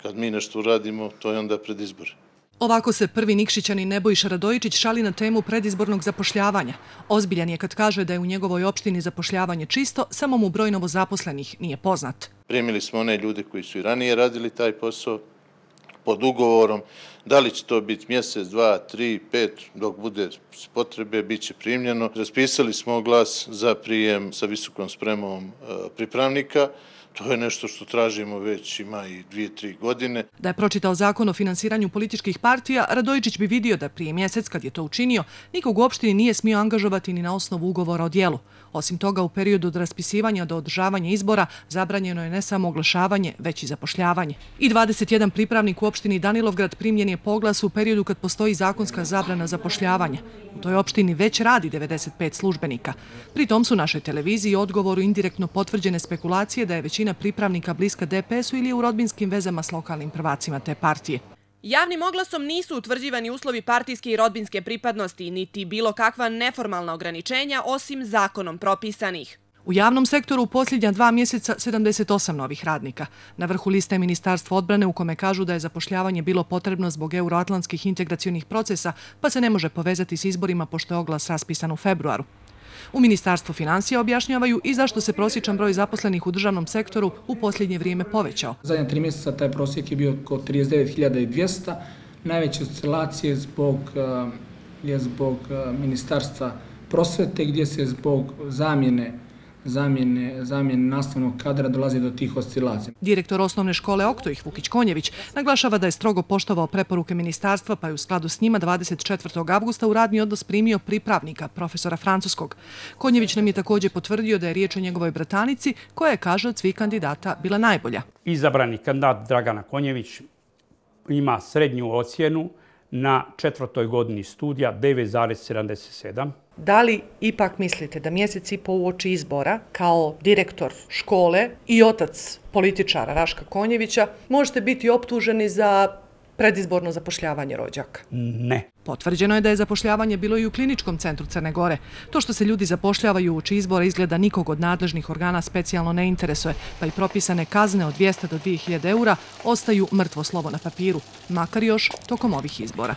Kad mi nešto uradimo, to je onda pred izbore. Ovako se prvi Nikšićanin Nebojša Radojičić šali na temu predizbornog zapošljavanja. Ozbiljan je kad kaže da je u njegovoj opštini zapošljavanje čisto, samo mu broj novozaposlenih nije poznat. Primili smo one ljude koji su i ranije radili taj posao pod ugovorom. Da li će to biti mjesec, 2, 3, 5, dok bude potrebe, bit će primljeno. Raspisali smo oglas za prijem sa visokom spremom pripravnika. To je nešto što tražimo već ima i 2-3 godine. Da je pročitao zakon o finansiranju političkih partija, Radojičić bi vidio da prije mjesec, kad je to učinio, nikog u opštini nije smio angažovati ni na osnovu ugovora o djelu. Osim toga, u periodu od raspisivanja do održavanja izbora zabranjeno je ne samo oglašavanje, već i zapošljavanje. I 21 pripravnik u opštini Danilovgrad primljen je po oglasu u periodu kad postoji zakonska zabrana zapošljavanja. U toj opštini već radi 95 službenika. Pri tom su našoj televiziji odgovoru indirektno potvrđene spekulacije da je većina pripravnika bliska DPS-u ili je u rodbinskim vezama s lokalnim prvacima te partije. Javnim oglasom nisu utvrđivani uslovi partijske i rodbinske pripadnosti, niti bilo kakva neformalna ograničenja osim zakonom propisanih. U javnom sektoru u posljednja 2 mjeseca 78 novih radnika. Na vrhu liste je Ministarstvo odbrane u kome kažu da je zapošljavanje bilo potrebno zbog euroatlantskih integracionih procesa, pa se ne može povezati s izborima pošto je oglas raspisan u februaru. U Ministarstvu financija objašnjavaju i zašto se prosječan broj zaposlenih u državnom sektoru u posljednje vrijeme povećao. Zadnja 3 mjeseca taj prosjek je bio oko 39.200. Najveće oscilacije je zbog Ministarstva prosvete gdje se zbog zamjene nastavnog kadra dolazi do tih oscilacija. Direktor osnovne škole Oktojih Vukić Konjević naglašava da je strogo poštovao preporuke ministarstva pa je u skladu s njima 24. avgusta u radni odnos primio pripravnika, profesora francuskog. Konjević nam je također potvrdio da je riječ o njegovoj bratanici koja je, kaže, od svih kandidata bila najbolja. Izabrani kandidat Dragana Konjević ima srednju ocjenu na 4. godini studija 9,77. Da li ipak mislite da mjesec i po uoči izbora, kao direktor škole i otac političara Raška Konjevića, možete biti optuženi za predizborno zapošljavanje rođaka? Ne. Potvrđeno je da je zapošljavanje bilo i u Kliničkom centru Crne Gore. To što se ljudi zapošljavaju uoči izbora izgleda nikog od nadležnih organa specijalno ne interesuje, pa i propisane kazne od 200 do 2000 eura ostaju mrtvo slovo na papiru, makar još tokom ovih izbora.